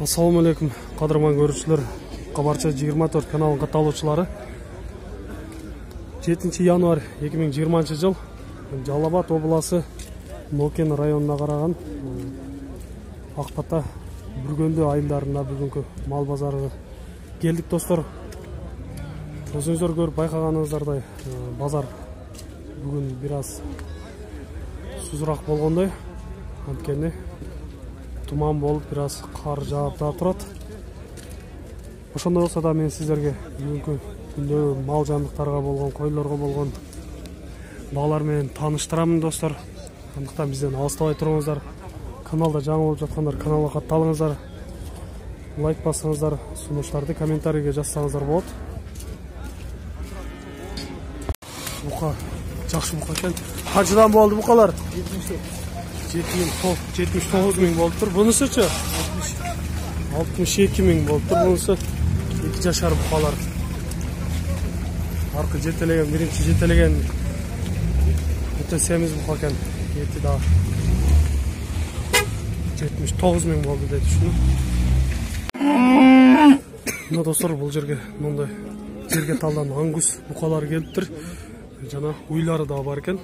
Assalamu alaikum, qadırman görüşçüler. Qabarça 24 kanalın kataloqçылары. 7 январь 2020 жыл Жалал Абад обласы Нокен районуна караган Акбата Бүргөндө айылдарына бүгүнкү мал базарына келдик достор. Өзүңүздөр көрүп байкаганыңыздардай базар бүгүн бир аз сузураак болгондой. Анткени туман болуп бир аз кар жаап да турат. Ошондой болсо да мен сиздерге бүгүнкү күндө мал жандыктарга болгон, койлорго болгон баалар менен тааныштырамын достор. Андыктан бизден алыстабай туруңуздар. Каналда жаңы болуп жаткандар каналга катталыңыздар. Лайк басыңыздар, сунуштарды комментарийге жазсаңыздар болот. Бука жакшы бука экен. Канчадан болду букалар? 79 миң болуптур. Бунусучу 62 миң болуптур. Бунусу 2 жашар букалар. Аркы жетелеген, биринчи жетелеген өтө семиз бука экен. Эти да 79 миң болду деп түшүнүп. Но достор, бул жерге мындай жерге талдан ангус букалар келиптир. Жана уйлары да бар экен.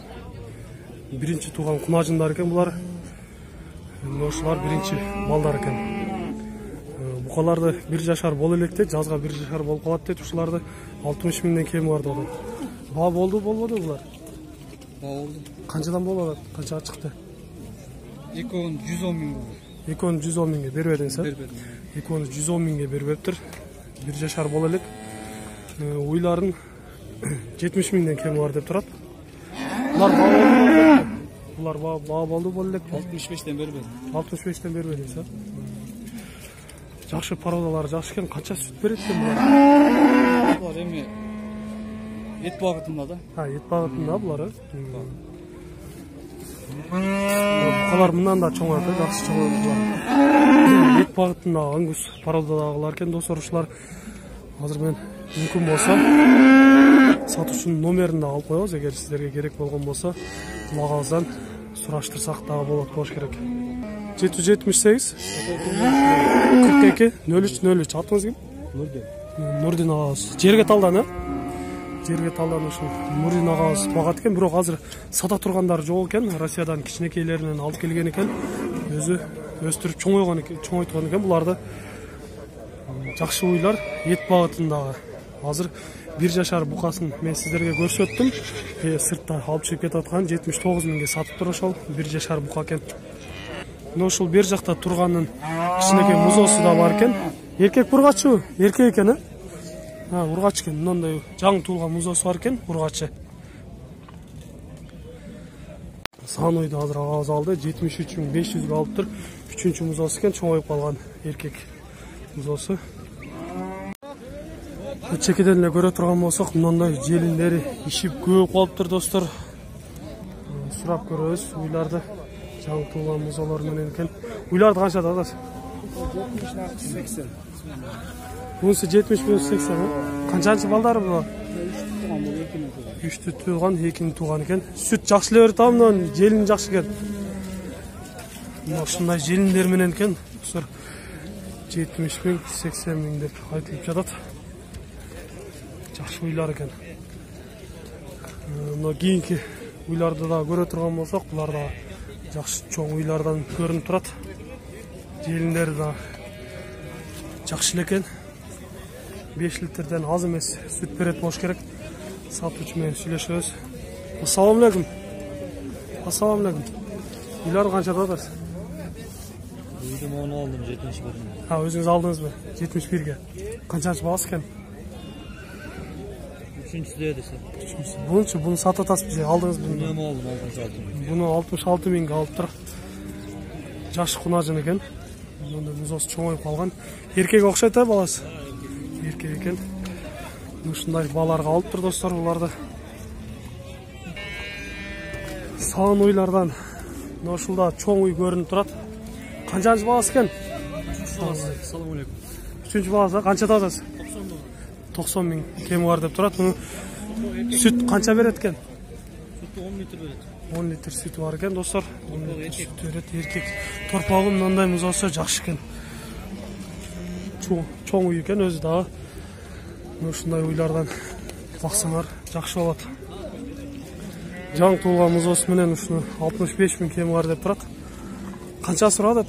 Биринчи тууган кунажындар экен булар. Ошолар биринчи балдар экен. Букаларды 1 жашар боло электе, жазга 1 жашар болуп калат дейт. Ушуларды 60 миңден кем бар деді. Баа болбоду булар? Баа болду. Канчадан болот? Канчага чыкты? Экөөнү 110 миң болду. Экөөнү 110 миңге бербедиңиз, а? Бербедим. Экөөнү 110 миңге бербептир. 1 жашар боло элек. Уйларын 70 миңден кем бар деп турат. Булар баа болду боло элек. 65тен бербедим. 65тен бербедиңиз, а? Жакшы породалар, жакшы экен. Канча сүт берет экен булар? Булар эми эт багытында да. Эт багытында булар, Букалар мындан да чоң экен, жакшы чоң булар. Эт багытында ангус породадагылар экен достор. Ушулар азыр мен мүмкүн болсо сатуучунун номерин да алып коебуз. Эгер сиздерге керек болгон болсо, кулагыңыздан сураштырсак дагы болот болуш керек. 778 42 03 атыңыз ким? Нурдин агабыз. Жерге талдан, Жерге талдан ушул Нурдин агабыз багат экен, бирок азыр сата тургандар жок экен. Россиядан кичинекейлеринен алып келген экен. Өзү өстүрүп чоңойткон экен буларды. Жакшы уйлар эт багытындагы. Азыр 1 жашар букасын мен сиздерге көрсөттүм. Сыртта алып чыгып кетип аткан 79 миңге сатып тур ошол 1 жашар бука экен. Но ушул бер жакта турганын кичинекей музосу да бар экен. Эркек ургачы, эркек экен, ургач экен. Мындай жаңы туулган музосу бар экен, ургачы. Санойду азыр агабыз алды, 73.500га алыптыр. 3-чү музосу экен, чоңоюп калган эркек музосу. Чекеден эле көрө турган болсок, мындай желиндери ишип көп калыптыр достор. Сурап көрөбүз уйларды. Жаңы туулган музолор менен экен. Уйларды канчада атасыз? 70-80. Бунусу 70-80, Канчанчы балдары булар? 3 тууган, 2 тууган экен. Сүт жакшы эле берет, мындан желин жакшы экен. Ушундай желиндер менен экен. Достор 70 миң, 80 миң деп айтылып жатат. Жакшы уйлар экен. Мына кийинки уйларды да көрө турган болсок, булар да жакшы чоң уйлардан көрүнүп турат. Желиндери да жакшы эле экен. 5 литрден аз эмес сүт берет болуш керек. Сатуучу менен сүйлөшөбүз. Ассаламу алейкум. Ассаламу алейкум. Уйлар канчада атасыз? Үйдүм оны алдым 71. Өзүңүз алдыңызбы? 71ге. Канчанчы багасы экен? 3-чүдө десе. Буну сатып атасыз же алдыңыз буну? Мен алдым 66 миң. Буну 66 миңге алыптыр. Жакшы кунажын экен. Мындай музосы чоңоюп калган. Эркек окшойт, баласы? Эркек экен. Ушундай баларга алыптыр достор буларды. Салан уйлардан ушулда чоң уй көрүнүп турат. Канчанчы багасы экен? Ассаламу алейкум. 3-чү багасы канчада атасыз? 90 миң кеми бар деп турат. Сүт канча берет экен? Сүт 10 литр берет. 10 литр сүтү бар экен достор. Сүт берет, эркек. Торпогу мындай музоосу жакшы экен. чоң уй экен, өзү дагы. Ушундай уйлардан баксаңар жакшы болот. Жаңы туулган музоосу менен ушуну 65 000 кеми бар деп турат. Канча сурат атат?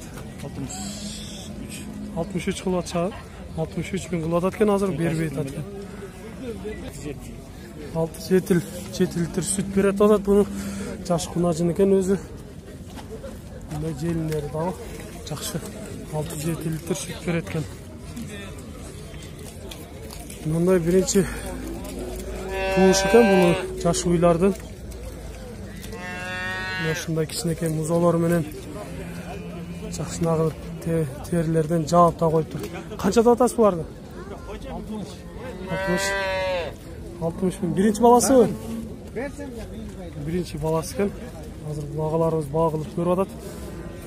63 кылып атышат. 63 000 кылып атат экен, азыр бербейт атат. 6-7 литр сүт берет атат. Буну жаш кунажын экен өзү. Мындай желиндери дагы жакшы. 6-7 литр сүт берет экен. Мындай биринчи тууш экен бул жаш уйлардын. Ушундай кичинекей музоолор менен жакшынагы терилерден жаап да коюп тур. Канчада атасыз буларды? 60 000. Биринчи баласыбы? Биринчи баласы экен. Азыр бул агаларыбыз багылып көрүп атат.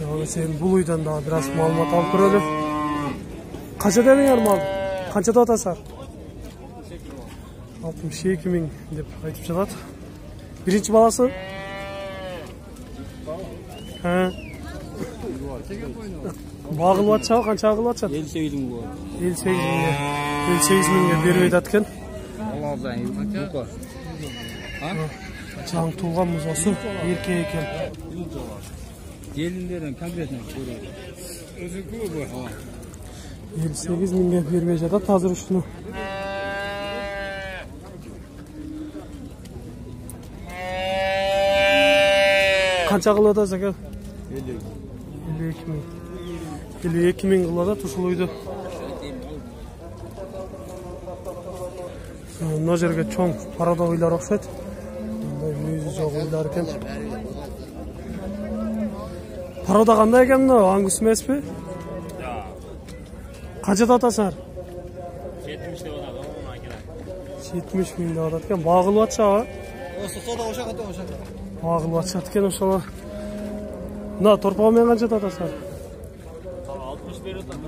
Ага сен бул уйдан да бир аз маалымат алып көрөлү. Канча дедиңер малды? Канчада атасыздар? 62 000 деп айтып жатат. Биринчи баласы? Багылып атышабы, канча кылып атышат? 58 000 болот. 58 000 бербейт аткан. Жаңы туулган музоосу эркек экен. Желиндерин конкретно көрөт. Өзүнкү бу. 58 000 бербей жатат азыр ушуну. Канча кылып атасыз ака? 52 000 кылып атат ушул уйду. Мына жерге чоң парада уйлар окшойт. Мындай мүйүзү жок уйлар экен. Парада кандай экен мына? Ангус эмеспи? Канчада атасыңар? 70 деп атат. 70 000 деп атат экен. Багылып атышабы? Багылып атышат экен ошол. Мына торпого менен канчада атасыңар? 60 берип атат.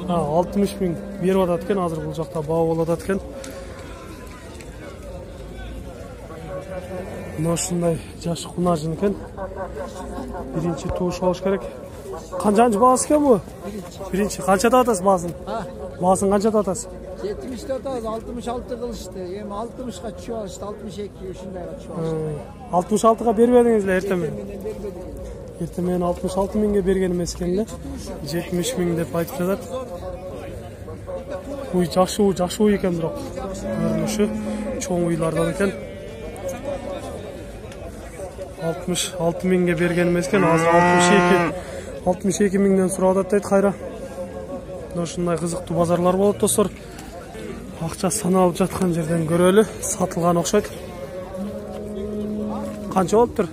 60 000 берип атат экен. Азыр бул жакта баа болуп атат экен. Мына ушундай жаш кунажын экен. Биринчи тууш болуш керек. Канчанчы баласы экен бу? Биринчи. Канчада атасыз баасын? Баасын канчада атасыз? 70'de atağız, 66 kılıştı. Hem 60'a düşüp alıştı, 62 uşundayga düşüp alıştı. 66'ga bermedingizler ertemen? Ertemen 66 000'ge bergen emes ekenler. 70 000 dep aytıp жатат. Uy жакшы уй экен бирок. Көрүнүшү чоң уйлардан экен. 66 000'ge берген эмес экен, азыр 62 000'ден сурап атат дейт кайра. Ушундай кызыктуу базарлар болот достор. Акча саналып жаткан жерден көрөлү, сатылган окшойт. Канча болуптур?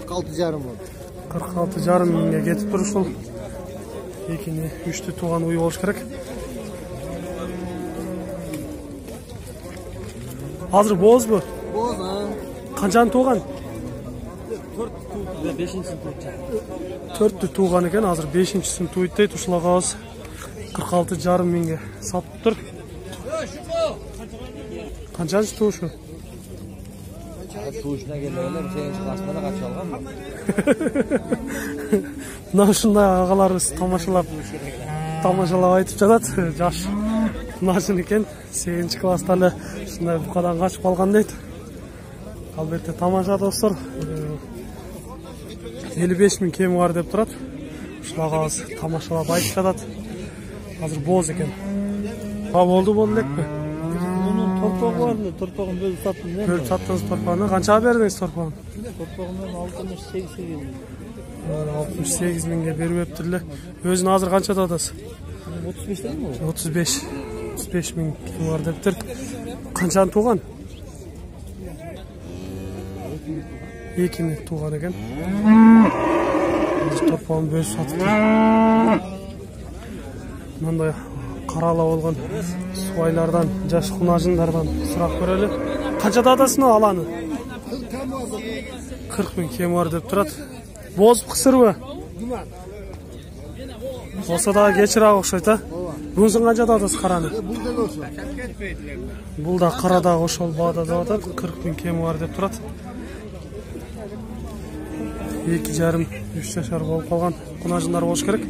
46,5 болду. 46,5 000'ge кетип тур ушул. Экини, үчтү тууган уй болуш керек. Азыр боозбу? Боз, Канчаны тууган? 4-түү тууган экен, азыр 5-син туйт дейт. Ушул агабыз 46,5 000'ge сатып тур. Канчанчы туушу? Туушуна келгенде 8-чи классында качып алганмын. Мына ушундай агаларыбыз тамашалап айтып жатат. Жаш кунажын экен, 8-чи класста эле ушундай букадан качып калган дейт. Албетте тамаша достор. 55 000 кеми бар деп турат. Ушул агабыз тамашалап айтып жатат. Азыр бооз экен. Болду элекпи? Мунун торпогу бар эле, торпогун бөлүп саттым. Бөлүп саттыңыз торпогуну. Канчага бердиңиз торпогун? Торпогунан 68 000. 68 000'ge бериптир эле. Өзүн азыр канчада атасыз? 35 дедимби? 35 000 кеми бар дептир. Канчаны тууган? 2-ни тууган экен. Торпогун бөлүп сатып. Мындай карала болгон суайлардан, жаш кунажындардан сурап көрөлү. Канчада атасың аланы? 40 000 кеми бар деп турат. Боз кысырбы? Болсо да кечирак окшойт, а? Бунусун канчада атасыз караны? Бул да карадагы ошол баада деп атат. 40 000 кеми бар деп турат. 2,5-3 жашар болуп калган кунажындар болуш керек.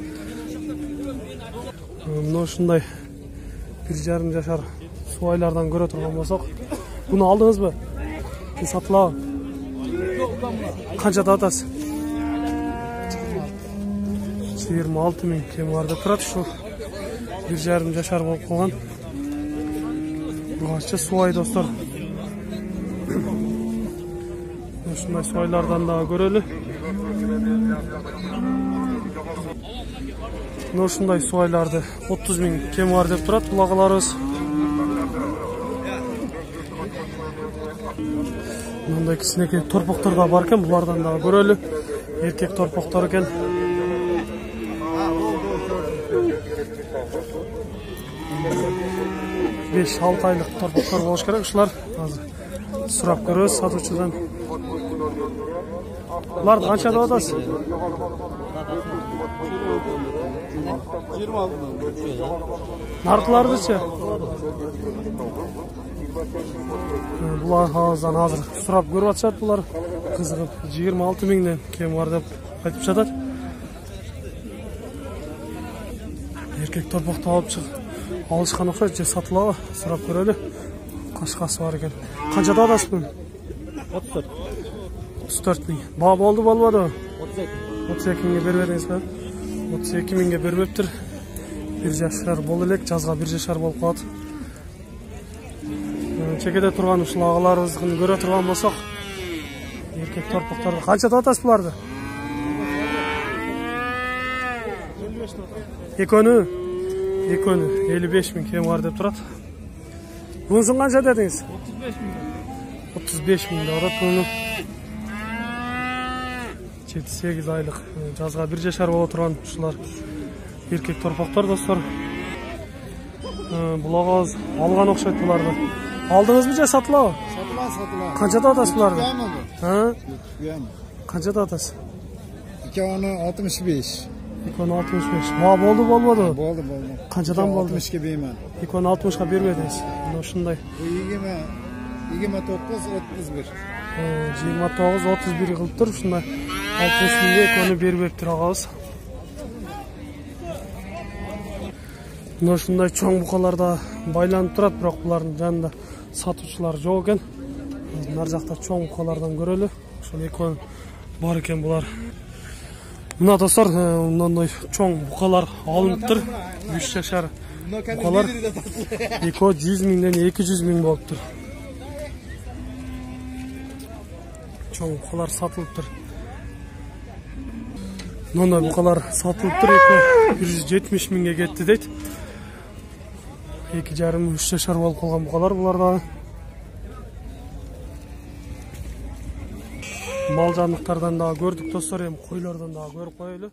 Мына ушундай 1,5 жашар суайлардан көрө турган болсок, буну алдыңызбы? Сатылабы? Канчада атасы? 26 000 кем бар деп турат. Ушу 1,5 жашар болуп калган. Башча суай достор. Ушундай суайлардан да көрөлү. Ушундай суайларды 30 000 кем бар деп турат булагаларыбыз. Мындай кичинекей торпоктор да бар экен, булардан да көрөлү. Эркек торпоктор экен. Beş 6 айлык торпоктор болуш керек. Ушулар азыр сурап көрөбүз сатуучудан. Буларды канча деп атасыз? 26. Наркылардычы? Булар азыр сурап көрүп атышат, булар кызыгып 26 000ден кем бар деп айтып жатат. Эркек торпокту алып чыгып алышкан окшойт, же сатылабы? Сурап көрөлү. Кашкасы бар экен. Канчада атасыз буну? 34. 34 000. Баа болду болбоду? 32. 32 000ге бербедиңизби? 32 000ге бербептир. 1 жашар болду элек, жазга 1 жашар болуп калат. Чекеде турган ушул агаларыбызды көрө турган болсок, эркек торпокторду канчада атасыз буларды? Экөнү 55 000 кем бар деп турат. Бунусун канча дедиңиз? 35 000 деп атат буну. 7-8 айлык, жазга 1 жашар боло турган ушулар эркек торпоктор достор. Булагабыз алган окшойт буларды. Алдыңызбы же сатылабы? Сатыла. Канчада атасыз буларды? Канчада атасыз? 265. 265. Баа болду болбоду? Болду. Канчадан болду? 60га бейман. 260га бербедиңиз. Ушундай. 29 31. 29 31 кылыптыр. Ушундай 60 000ге экөөнү бербептир агабыз. Ушундай чоң букаларда байланып турат, бирок булардын жанында сатуучулар жок экен. Нар жакта чоң букалардан көрөлү. Ошол экөө бар экен булар. Мына достор, мындай чоң букалар алыныптыр. 3 жашар букалар. Экөө 100 000ден 200 000 болуптур. Чоң букалар сатылыптыр. Мындай букалар сатылыптыр. Экөө 170 000ге кетти дейт. 2,5-3 жашар болуп калган букалар булар да. Мал жандыктардан да көрдүк достор, эми койлордон да көрүп коелу.